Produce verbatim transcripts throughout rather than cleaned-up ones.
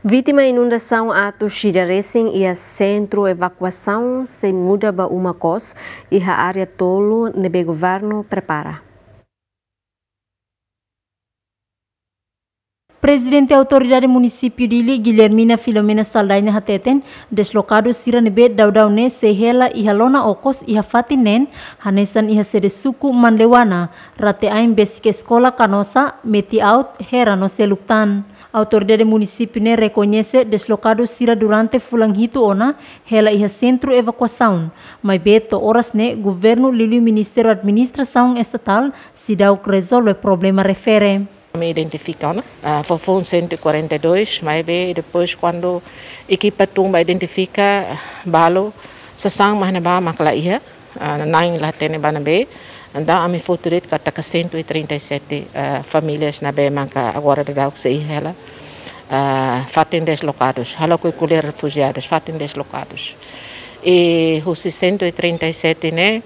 Vítima inundasaun atus ida resin iha sentru evakuasaun sei muda ba uma kos iha área tolu ne'ebé governu prepara. Prezidente Autoridade Munisípiu Dili, Guilhermina Filomena Saldanha hateten, deslokadu sira ne'ebé daudaun ne'e sei hela iha lona okos iha fatin neen, hanesan iha sede suku Manleuana, rate-ain besik eskola Canossa, Meti-Aut, Hera no seluk tan. Autoridade munisípiu ne'e rekoñese deslokadu sira durante fulan hitu ona hela iha sentru evakuasaun, maibé to'o oras ne'e governu liuliu Ministériu Administrasaun Estatál seidauk rezolve problema refere. Ami identifika ona, ah, foufoun cento e quarenta e dois, maibé depois kuandu ekipa tun ba identifika, ah, balu sasán mak ne'ebá mak la iha, ah, na'in la hatene ba ne'ebé. Entaun ami fó tuir katak cento e trinta e sete, ah, famílias ne'ebé maka agora daudaun sei hela, ah, fatin deslokadus, halo ko'alia refujiadus, fatin deslokadus. I husi cento e trinta e sete ne'e,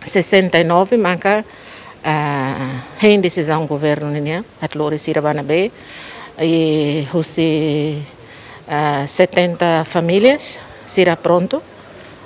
sessenta e nove maka, ah, hein desizaun governu nian, atu lori sira ba ne'ebé, i husi, ah, setenta famílias sira prontu,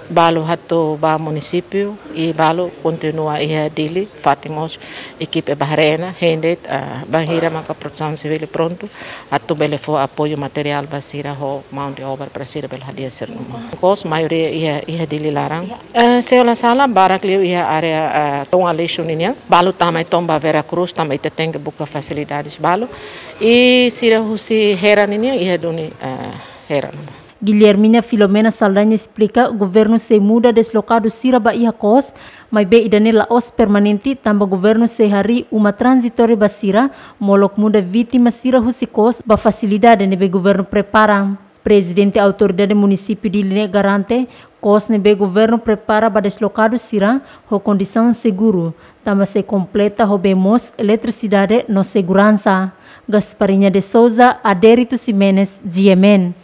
balu atu ba munisípiu, i balu kontinua iha Dili, fatin mós ekipa ba haree ona, hein de'it, ah, bainhira maka Protesaun Sivíl prontu, atu bele fó apoiu materiál ba sira ho mão de obra para sira bele hadi'a sira-nia uma. Kos maioria iha, iha Dili laran. Eh, se la sala barak liu iha área, eh, Tun Aleixo nian. Balu tama i to'o ba Vera Cruz, tanba ita tenke buka fasilidades balu. I sira husi Hera nian iha duni, eh, Hera. Guilhermina Filomena Saldanha esplika, governu sei muda deslokadu sira ba iha kos, maibé ida-ne'e la'ós permanente, tanba governu sei harii uma tranzitóriu ba sira, molok muda vítima sira husi kos ba fasilidade ne'ebé governu prepara. Prezidente Autoridade Munisípiu Dili ne'e garante, kos ne'ebé governu prepara ba deslokadu sira ho kondisaun seguru, tanba sei kompleta ho bee moos, eletrisidade no seguransa. Gasparinha de Souza, Adérito Ximenes, G M N.